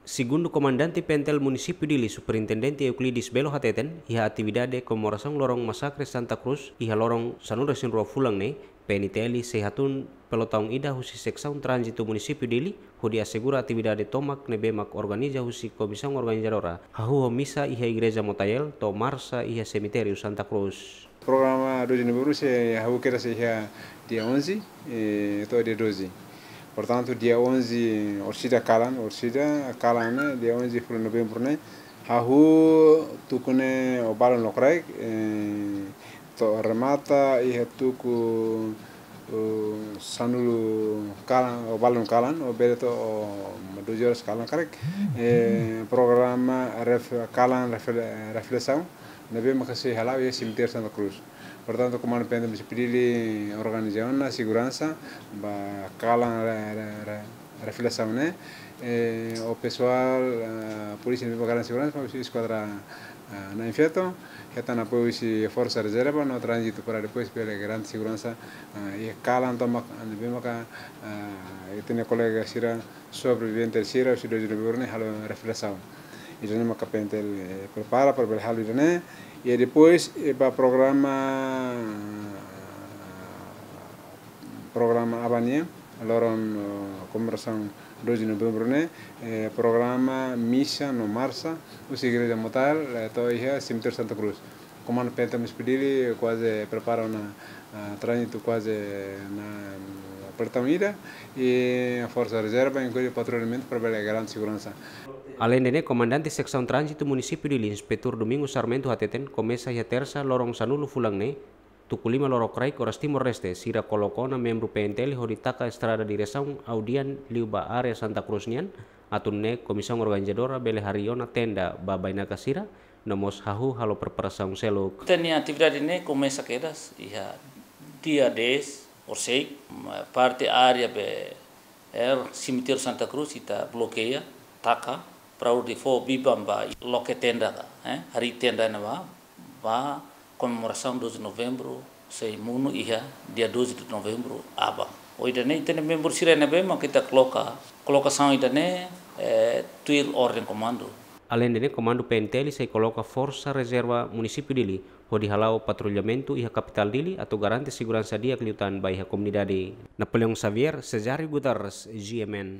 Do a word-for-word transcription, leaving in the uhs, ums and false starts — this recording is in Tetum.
Segundu Komandante P N T L Munisípiu Dili, Superintendente Euclides Belo hateten, iha atividade komemorasaun loron masakre Santa Cruz, iha loron sanulu-resin-rua fulan ne'e, P N T L sei hatún pelotaun ida husi Seksaun Tránzitu Munisípiu Dili, hodi asegura atividade tomak ne'ebé mak organiza husi Komisaun Organizadora, hahú ho misa iha Igreja Motael, to'o marsa iha Semitériu Santa Cruz. Programa doze de novembro sei hahú kedas iha dia onze, eh, to'o dia doze. Portantu, dia onze orsida kalan, orsida kalan ne'e, dia onze fulan novembro ne'e, hahú tuku ne'e o balun lokraik, eh, to'o remata iha tuku, eh, sanulu kalan, o balun kalan, o bele to'o doze horas kalan karik. Eh, programa ref-, kalan refle-, reflesaun, ne'ebé maka sei hala'o iha Semitériu Santa Cruz. Portantu, Komandu P N T L Munisípiu Dili organiza ona seguransa ba kalan re-, re-, re-, reflesaun ne'e. Eh, o pesoál, eh, polísia ne'ebé garante seguransa, husi eskuadra, eh, na'in-feto, hetan apoiu husi Forsa Rezerva no Tránzitu para depois bele garante seguransa, eh, iha kalan tomak, ne'ebé maka, eh, ita-nia kolega sira, sobrevivente sira, husi doze de novembro ne'e halo reflesaun. Ida-ne'e maka P N T L, eh, prepara para bele halo ida-ne'e. I depois, eh, ba programa, programa aban nian, loron, eh, komemorasaun doze de novembro ne'e, eh, programa misa no marsa, husi Igreja Motael, eh, to'o iha Semitériu Santa Cruz. Komandu P N T L Munisípiu Dili kuaze prepara ona, ah, tránzitu kuaze na, mm, pelotaun ida, i Forsa Rezerva inklui patrullamentu para bele garante seguransa. Aleinde ne'e, Komandante Seksaun Tránzitu Munisípiu Dili, Inspetór Domingos Sarmento hateten, komesa iha tersa loron sanulu fulan ne'e, tuku lima lorokraik oras Timor-Leste, sira koloka ona membru P N T L hodi taka estrada diresaun Audian liu ba área Santa Cruz nian, atu nune'e komisaun organizadora bele harii ona tenda ba bainaka sira, no mós hahú halo preparasaun seluk. Ita-nia atividade ne'e komesa kedas iha dia dez, orsida, ma-, parte área be, er, Semitériu Santa Cruz ita blokeia, taka, para hodi fó biban ba loke tenda ka, eh, harii tenda ne'ebá, ba komemorasaun doze de novembro, sei monu iha dia doze de novembro aban. Ho ida-ne'e, ita-nia membru sira ne'ebé mak ita koloka, kolokasaun ida-ne'e, eh, tuir orden komandu. Aleinde ne'e, Komandu P N T L sei koloka Forsa Rezerva Munisípiu Dili, hodi hala'o patrullamentu iha kapitál Dili, atu garante seguransa di'ak liután ba iha komunidade. Napoleão Xavier, Cesário Guterres, G M N.